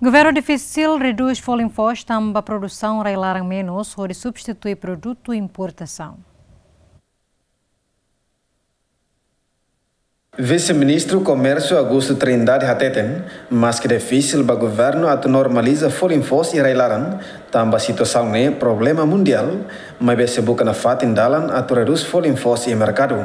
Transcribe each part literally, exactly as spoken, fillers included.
Governu difisil redús folin foos tanba produsaun rai-laran menus hodi substitui produtu importasaun. Vise-Ministru Komérsiu Augusto Trindade hateten, maski difisil ba governu atu normaliza folin foos iha rai-laran, tanba situasaun ne'e problema mundiál, maibé sei buka nafatin dalan atu redús folin foos iha merkadu.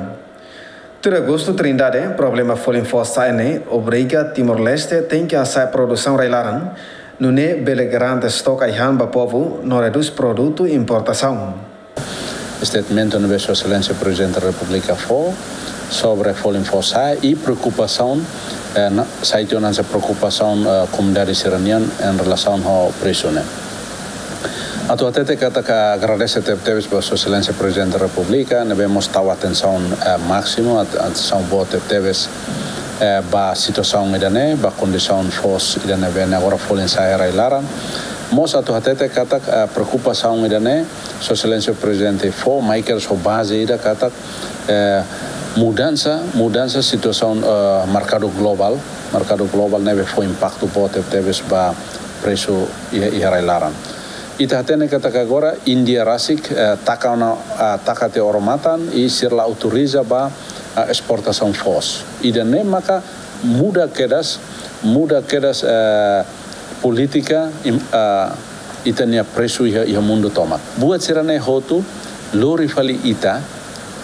Tuir Augusto Trindade, problema folin foos sa'e ne'e obriga Timor-Leste tenke hasa'e produsaun rai-laran, nune'e bele garante estoke ai-han ba povu no redús produtu importasaun. Statement ne'ebé Sua Exelénsia Prezidente Repúblika fó sobre folin foos sa'e i preokupasaun, eh, na, sai tiha ona hanesan preokupasaun, eh, komunidade sira-nian en relasaun ho presu ne'e. Atu hatete katak agradese tebetebes ba Sua Exelénsia Prezidente Repúblika, ne'ebé mós tau atensaun, eh, másimu, at-, atensaun boot tebetebes, eh, ba situasaun ida-ne'e, ba kondisaun foos ida ne'ebé ne'e agora folin sa'e rai-laran. Mós atu hatete katak, eh, preokupasaun ida-ne'e, Sua Exelénsia Prezidente fó, mai kedas ho baze ida katak, eh, mudansa, mudansa situasaun, eh, merkadu globál, merkadu globál ne'ebé fó impaktu boot tebetebes ba presu iha, iha rai-laran. Ita hatene katak agora Índia rasik, eh, taka ona, eh, taka tiha odamatan i sira la autoriza ba, eh, esportasaun foos. Ida-ne'e maka muda kedas, muda kedas, eh, polítika im-, eh, ita-nia presu iha, iha mundu tomak. Buat sira-ne'e hotu lori fali ita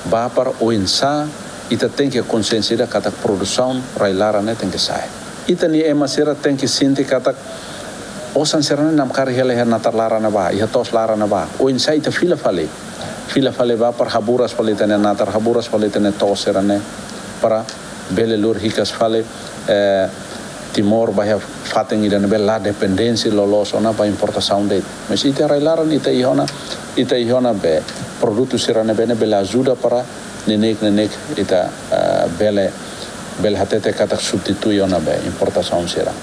ba para oinsá ita tenke konsiénsia ida katak produsaun rai-laran ne'e tenke sa'e. Ita-nia ema sira tenke sente katak osan sira-ne'e namkari hela iha natar laran ne'ebá, iha to'os laran ne'ebá. Oinsá ita fila fali. Fila fali ba para haburas fali ita-nia natar, haburas fali ita-nia to'os sira-ne'e. Para bele lori hikas fali, eh, Timor ba iha fatin ida ne'ebé la dependénsia loloos ona ba importasaun de'it. Mas ita rai-laran ita iha ona, ita iha ona be produtu sira ne'ebé ne'e bele ajuda para neineik-neineik ita, eh, bele, bele hatete katak substitui ona be importasaun sira.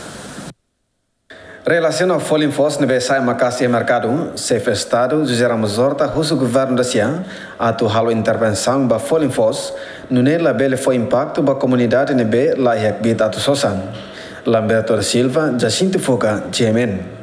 Relasiona ho folin foos ne'ebé sa'e maka'as iha merkadu, Xefe Estadu José Ramos Horta husu governu dasia atu halo intervensaun ba folin foos, nune'e labele fó impaktu ba komunidade ne'ebé la iha kbiit atu sosa. Lamberto da Silva, Jacinto Fuca, G M N.